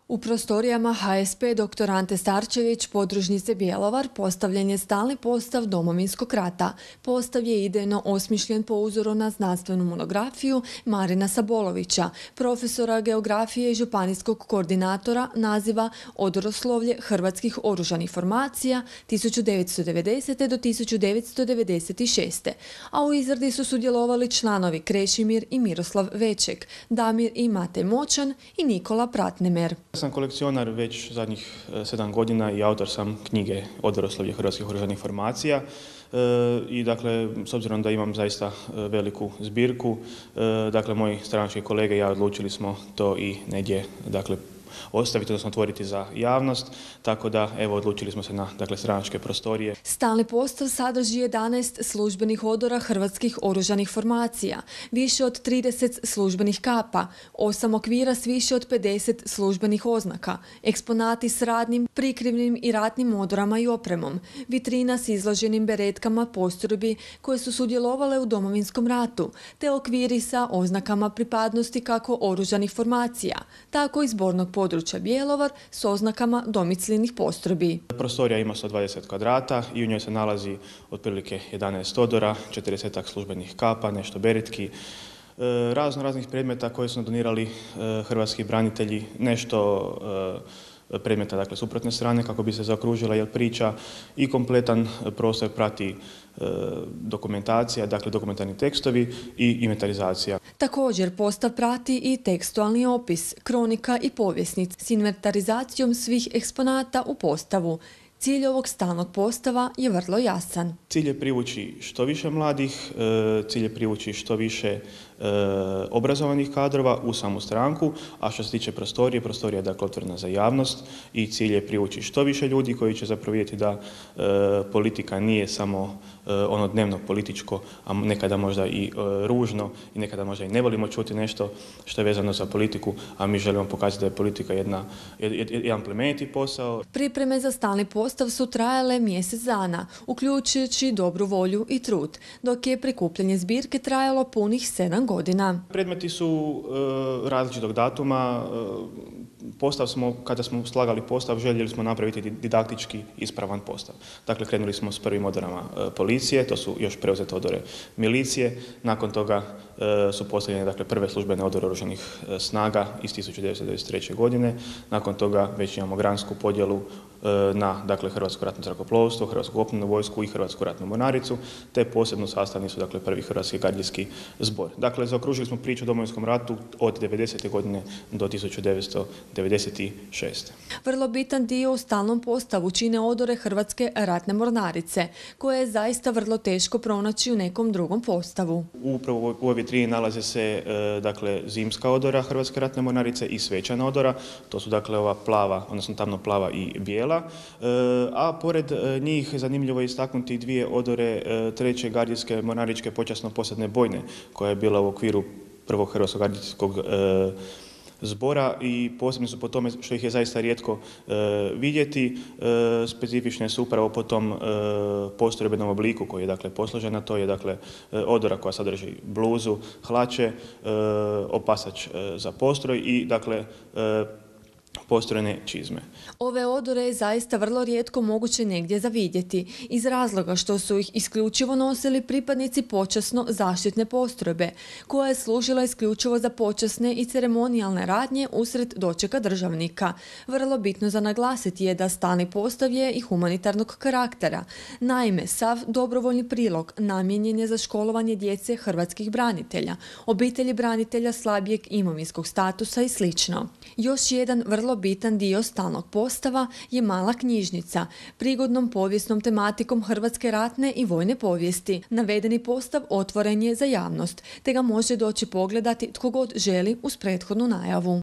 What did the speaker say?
U prostorijama HSP dr. Ante Starčević podružnice Bjelovar postavljen je stalni postav Domovinskog rata. Postav je idejno osmišljen po uzoru na znanstvenu monografiju Marina Sabolovića, profesora geografije i županijskog koordinatora naziva Odoroslovlje hrvatskih oružanih formacija 1990. do 1996. A u izradi su sudjelovali članovi Krešimir i Miroslav Veček, Damir i Matej Moćan i Nikola Pratnemer. Ja sam kolekcionar već zadnjih 7 godina i autor sam knjige Odoroslovlje hrvatskih oružanih formacija. I dakle, s obzirom da imam zaista veliku zbirku, dakle, moji stranački kolege i ja odlučili smo to i negdje, dakle, ostaviti, odnosno otvoriti za javnost, tako da evo odlučili smo se na stranačke prostorije. Stalni postav sadrži 11 službenih odora hrvatskih oružanih formacija, više od 30 službenih kapa, 8 okvira s više od 50 službenih oznaka, eksponati s radnim, prikrivnim i ratnim odorama i opremom, vitrina s izloženim beretkama postrojbi koje su sudjelovale u Domovinskom ratu, te okviri sa oznakama pripadnosti kako oružanih formacija, tako i zbornog područja Bjelovar s oznakama domicilnih postrojbi. Prostorija ima 120 kvadrata i u njoj se nalazi otprilike 11 odora, 40 službenih kapa, nešto beretki, raznih predmeta koje su donirali hrvatski branitelji, nešto predmeta, dakle, suprotne strane kako bi se zaokružila jer priča i kompletan prostor prati dokumentacija, dakle dokumentarni tekstovi i inventarizacija. Također postav prati i tekstualni opis, kronika i povjesnic s inventarizacijom svih eksponata u postavu. Cilj ovog stalnog postava je vrlo jasan. Cilj je privući što više mladih, cilj je privući što više obrazovanih kadrova u samu stranku, a što se tiče prostorije, prostorija je dakle otvorena za javnost i cilj je privući što više ljudi koji će zapravo vidjeti da politika nije samo ono dnevno političko, a nekada možda i ružno i nekada možda i ne volimo čuti nešto što je vezano za politiku, a mi želimo pokazati da je politika jedan plemeniti posao. Pripreme za stalni postav su trajale mjesec dana, uključujući dobru volju i trud, dok je prikupljanje zbirke trajalo punih 7 godina. Predmeti su različitog datuma. Kada smo slagali postav, željeli smo napraviti didaktički ispravan postav. Dakle, krenuli smo s prvim odorama policije, to su još preuzete odore milicije. Nakon toga su postavljene prve službene odore oružanih snaga iz 1993. godine. Nakon toga već imamo gransku podjelu na Hrvatsko ratno zrakoplovstvo, Hrvatsku kopnenu vojsku i Hrvatsku ratnu mornaricu, te posebno sastavni su prvi Hrvatski gardijski zbor. Dakle, zaokružili smo priču o Domovinskom ratu od 90. godine do 1996. Vrlo bitan dio u stalnom postavu čine odore Hrvatske ratne mornarice, koje je zaista vrlo teško pronaći u nekom drugom postavu. Upravo u ovoj vitrini nalaze se zimska odora Hrvatske ratne mornarice i svečana odora. To su ova plava, odnosno tamno plava i bijela. A pored njih zanimljivo je istaknuti dvije odore treće gardijske mornaričke počasno-posadne bojne, koja je bila u okviru prvog Hrvatskog gardijskog zbora i posebni su po tome što ih je zaista rijetko vidjeti. Specifične su upravo po tom postrojbenom obliku koji je posložena. To je odora koja sadrži bluzu, hlače, opasač za postroj i postrojne čizme. Ove odore je zaista vrlo rijetko moguće negdje zavidjeti, iz razloga što su ih isključivo nosili pripadnici počasno zaštitne postrojbe, koja je služila isključivo za počasne i ceremonijalne radnje usred dočeka državnika. Vrlo bitno za naglasiti je da stalni postav je i humanitarnog karaktera. Naime, sav dobrovoljni prilog namijenjen je za školovanje djece hrvatskih branitelja, obitelji branitelja slabijeg imovinskog statusa i sl. Još jedan vrlo bitan dio stalnog postava je mala knjižnica, prigodnom povijesnom tematikom hrvatske ratne i vojne povijesti. Navedeni postav otvoren je za javnost, te ga može doći pogledati tko god želi uz prethodnu najavu.